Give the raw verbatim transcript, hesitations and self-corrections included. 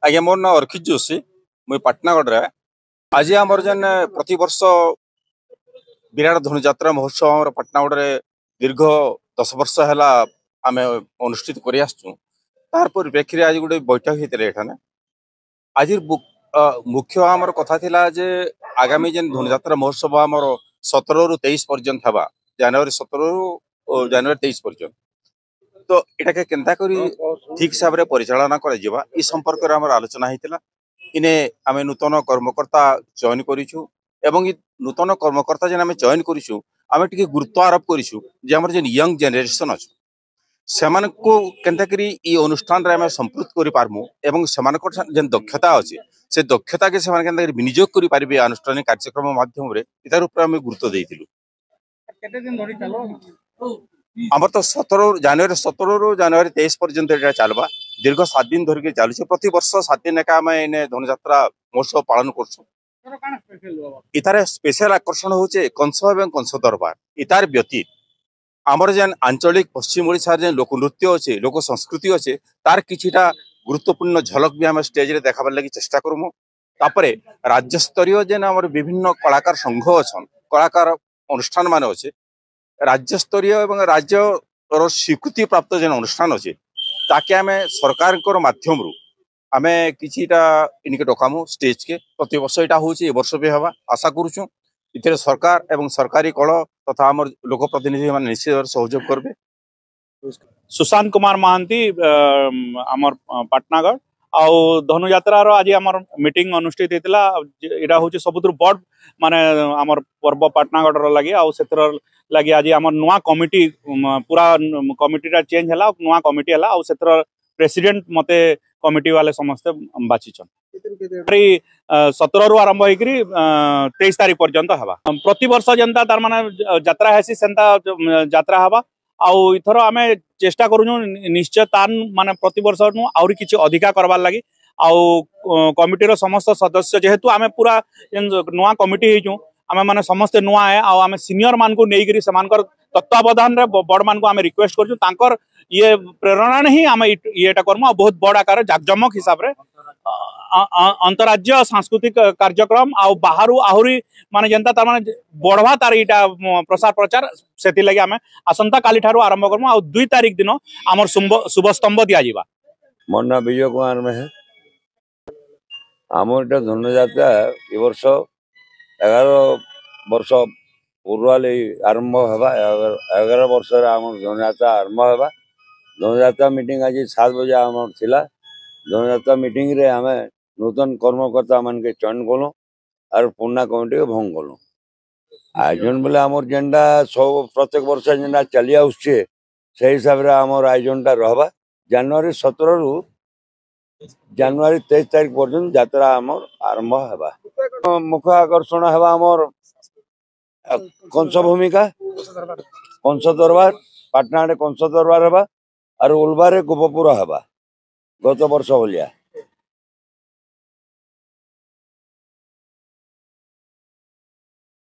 ଆଜ୍ଞା, ମୋର ନାଁ ଅର୍କିତ ଯୋଶୀ, ମୁଇଁ ପାଟନାଗଡ଼ରେ। ଆଜି ଆମର ଯେନ୍ ପ୍ରତିବର୍ଷ ବିରାଟ ଧନୁଯାତ୍ରା ମହୋତ୍ସବ ଆମର ପାଟନାଗଡ଼ରେ ଦୀର୍ଘ ଦଶ ବର୍ଷ ହେଲା ଆମେ ଅନୁଷ୍ଠିତ କରି ଆସୁଛୁ। ତାର ପରିପ୍ରେକ୍ଷୀରେ ଆଜି ଗୋଟେ ବୈଠକ ହେଇଥିଲା ଏଠାନେ। ଆଜିର ମୁ-, ଅ, ମୁଖ୍ୟ ଆମର କଥା ଥିଲା ଯେ ଆଗାମୀ ଯେନ୍ ଧନୁଯାତ୍ରା ମହୋତ୍ସବ ଆମର ସତର ରୁ ତେଇଶ ପର୍ଯ୍ୟନ୍ତ ହେବା, ଜାନୁଆରୀ ସତର ରୁ, ଓ, ଜାନୁଆରୀ ତେଇଶ ପର୍ଯ୍ୟନ୍ତ। ତ ଏଟାକେ କେନ୍ତା କରି ଠିକ୍ ହିସାବରେ ପରିଚାଳନା କରାଯିବା, ଇ ସମ୍ପର୍କରେ ଆମର ଆଲୋଚନା ହେଇଥିଲା। ଇନେ ଆମେ ନୂତନ କର୍ମକର୍ତ୍ତା ଚୟନ କରିଛୁ ଏବଂ ଇ ନୂତନ କର୍ମକର୍ତ୍ତା ଯେନ୍ ଆମେ ଚୟନ କରିଛୁ, ଆମେ ଟିକେ ଗୁରୁତ୍ୱ ଆରୋପ କରିଛୁ ଯେ ଆମର ଯେନ୍ ୟଙ୍ଗ ଜେନେରେସନ ଅଛନ୍, ସେମାନଙ୍କୁ କେନ୍ତା କରି ଇ ଅନୁଷ୍ଠାନରେ ଆମେ ସମ୍ପୃକ୍ତ କରିପାରମୁ ଏବଂ ସେମାନଙ୍କର ଯେନ୍ ଦକ୍ଷତା ଅଛେ, ସେ ଦକ୍ଷତାକେ ସେମାନେ କେନ୍ତା କରି ବିନିଯୋଗ କରିପାରିବେ ଆନୁଷ୍ଠାନିକ କାର୍ଯ୍ୟକ୍ରମ ମାଧ୍ୟମରେ, ଇତାର ଉପରେ ଆମେ ଗୁରୁତ୍ୱ ଦେଇଥିଲୁ। କେତେ ଦିନ ଧରି ଚାଲିବ? ଆମର ତ ସତର, ଜାନୁଆରୀ ସତର ରୁ ଜାନୁଆରୀ ତେଇଶ ପର୍ଯ୍ୟନ୍ତ ଏଟା ଚାଲବା। ଦୀର୍ଘ ସାତ ଦିନ ଧରିକି ଚାଲୁଛେ। ପ୍ରତିବର୍ଷ ସାତ ଦିନ ଏକା ଆମେ ଏନେ ଧନୁଯାତ୍ରା ମହୋତ୍ସବ ପାଳନ କରୁଛୁ। ଏଥର କାଣା ସ୍ପେଶାଲ ହବ? ଇତାର ସ୍ପେଶାଲ ଆକର୍ଷଣ ହଉଛେ କଂସ ଏବଂ କଂସ ଦରବାର। ଇତାର ବ୍ୟତୀତ ଆମର ଯେନ୍ ଆଞ୍ଚଳିକ ପଶ୍ଚିମ ଓଡ଼ିଶାର ଯେନ୍ ଲୋକନୃତ୍ୟ ଅଛେ, ଲୋକ ସଂସ୍କୃତି ଅଛେ, ତାର କିଛିଟା ଗୁରୁତ୍ୱପୂର୍ଣ୍ଣ ଝଲକ ବି ଆମେ ଷ୍ଟେଜରେ ଦେଖାବାର ଲାଗି ଚେଷ୍ଟା କରମୁ। ତାପରେ ରାଜ୍ୟସ୍ତରୀୟ ଯେନ୍ ଆମର ବିଭିନ୍ନ କଳାକାର ସଂଘ ଅଛନ୍, କଳାକାର ଅନୁଷ୍ଠାନ ମାନେ ଅଛେ, ରାଜ୍ୟସ୍ତରୀୟ ଏବଂ ରାଜ୍ୟର ସ୍ୱୀକୃତିପ୍ରାପ୍ତ ଯେନ୍ ଅନୁଷ୍ଠାନ ଅଛେ, ତାକେ ଆମେ ସରକାରଙ୍କର ମାଧ୍ୟମରୁ ଆମେ କିଛିଟା ଇନିକେ ଡକାମୁ ଷ୍ଟେଜକେ। ପ୍ରତିବର୍ଷ ଏଇଟା ହଉଛି, ଏ ବର୍ଷ ବି ହେବା ଆଶା କରୁଛୁ। ଏଥିରେ ସରକାର ଏବଂ ସରକାରୀ କଳ ତଥା ଆମର ଲୋକପ୍ରତିନିଧି ମାନେ ନିଶ୍ଚିତ ଭାବରେ ସହଯୋଗ କରିବେ। ସୁଶାନ୍ତ କୁମାର ମହାନ୍ତି, ଅ, ଆମର, ଅ, ପାଟନାଗଡ଼। ଆଉ ଧନୁଯାତ୍ରାର ଆଜି ଆମର ମିଟିଂ ଅନୁଷ୍ଠିତ ହେଇଥିଲା। ଯେ ଏଇଟା ହଉଛି ସବୁଥିରୁ ବଡ଼, ମାନେ, ଆମର ପର୍ବ ପାଟନାଗଡ଼ର ଲାଗି। ଆଉ ସେଥିର ଲାଗି ଆଜି ଆମର ନୂଆ କମିଟି, ଉମ, ପୁରା କମିଟିଟା ଚେଞ୍ଜ ହେଲା, ନୂଆ କମିଟି ହେଲା। ଆଉ ସେଥିର ପ୍ରେସିଡେଣ୍ଟ ମତେ କମିଟି ବାଲେ ସମସ୍ତେ ବାଛିଛନ୍। ଏଇ, ଅ, ସତର ରୁ ଆରମ୍ଭ ହେଇକିରି, ଅ, ତେଇଶ ତାରିଖ ପର୍ଯ୍ୟନ୍ତ ହେବା। ପ୍ରତିବର୍ଷ ଯେନ୍ତା ତାର ମାନେ ଯାତ୍ରା ହେସି, ସେନ୍ତା, ଉମ, ଯାତ୍ରା ହେବା। ଆଉ ଇଥର ଆମେ ଚେଷ୍ଟା କରୁଛୁ ନି-, ନିଶ୍ଚୟ ତାନ ମାନେ ପ୍ରତିବର୍ଷ ନୁ ଆହୁରି କିଛି ଅଧିକା କରବାର ଲାଗି। ଆଉ, ଅ, କମିଟିର ସମସ୍ତ ସଦସ୍ୟ, ଯେହେତୁ ଆମେ ପୁରା ଯେନ୍ ନୂଆ କମିଟି ହେଇଛୁ, ଆମେ ମାନେ ସମସ୍ତେ ନୂଆ ଆଏ, ଆଉ ଆମେ ସିନିୟର ମାନଙ୍କୁ ନେଇକିରି ସେମାନଙ୍କର ତତ୍ତ୍ୱାବଧାନରେ ବ-, ବଡ଼ମାନଙ୍କୁ ଆମେ ରିକ୍ୱେଷ୍ଟ କରୁଛୁ, ତାଙ୍କର ଇଏ ପ୍ରେରଣାରେ ହିଁ ଆମେ ଇ-, ଇଏଟା କରମୁ। ଆଉ ବହୁତ ବଡ଼ ଆକାରରେ ଜାକଜମକ ହିସାବରେ, ଅ, ଅ, ଅ, ଅନ୍ତରାଜ୍ୟ ସାଂସ୍କୃତିକ କାର୍ଯ୍ୟକ୍ରମ ଆଉ ବାହାରୁ ଆହୁରି ମାନେ ଯେନ୍ତା ତାର ମାନେ ବଢ଼ବା ତାର ଇଟା, ମ, ପ୍ରସାର ପ୍ରଚାର, ସେଥିର୍ଲାଗି ଆମେ ଆସନ୍ତା କାଲିଠାରୁ ଆରମ୍ଭ କରମୁ। ଆଉ ଦୁଇ ତାରିଖ ଦିନ ଆମର ଶୁମ୍ବ-, ଶୁଭ ସ୍ତମ୍ଭ ଦିଆଯିବା। ମୋ ନାଁ ବିଜୟ କୁମାର ମେହେର। ଆମର ଏଟା ଧନୁଯାତ୍ରା ଏ ବର୍ଷ ଏଗାର ବର୍ଷ ପୂର୍ବାଲେ ଆରମ୍ଭ ହେବା। ଏଗାର, ଏଗାର ବର୍ଷରେ ଆମର ଧନୁଯାତ୍ରା ଆରମ୍ଭ ହେବା। ଧନୁଯାତ୍ରା ମିଟିଂ ଆଜି ସାତ ବଜେ ଆମର ଥିଲା। ଧନୁଯାତ୍ରା ମିଟିଂରେ ଆମେ ନୂତନ କର୍ମକର୍ତ୍ତା ମାନକେ ଚୟନ କଲୁ, ଆର୍ ପୁରୁଣା କମିଟିକେ ଭଙ୍ଗ କଲୁ। ଆୟୋଜନ ବେଲେ ଆମର ଯେନ୍ଟା ସବୁ ପ୍ରତ୍ୟେକ ବର୍ଷ ଯେନ୍ଟା ଚାଲି ଆସୁଛେ, ସେଇ ହିସାବରେ ଆମର ଆୟୋଜନଟା ରହବା। ଜାନୁଆରୀ ସତର ରୁ ଜାନୁଆରୀ ତେଇଶ ତାରିଖ ପର୍ଯ୍ୟନ୍ତ ଯାତ୍ରା ଆମର ଆରମ୍ଭ ହେବା। ମୁଖ୍ୟ ଆକର୍ଷଣ ହେବା ଆମର, ଆ, କଂସ ଭୂମିକା, କଂସ ଦରବାର, ପାଟନାରେ କଂସ ଦରବାର ହେବା, ଆର୍ ଉଲବାରେ ଗୋପପୁର ହେବା। ଗତ ବର୍ଷ ଭଳିଆ।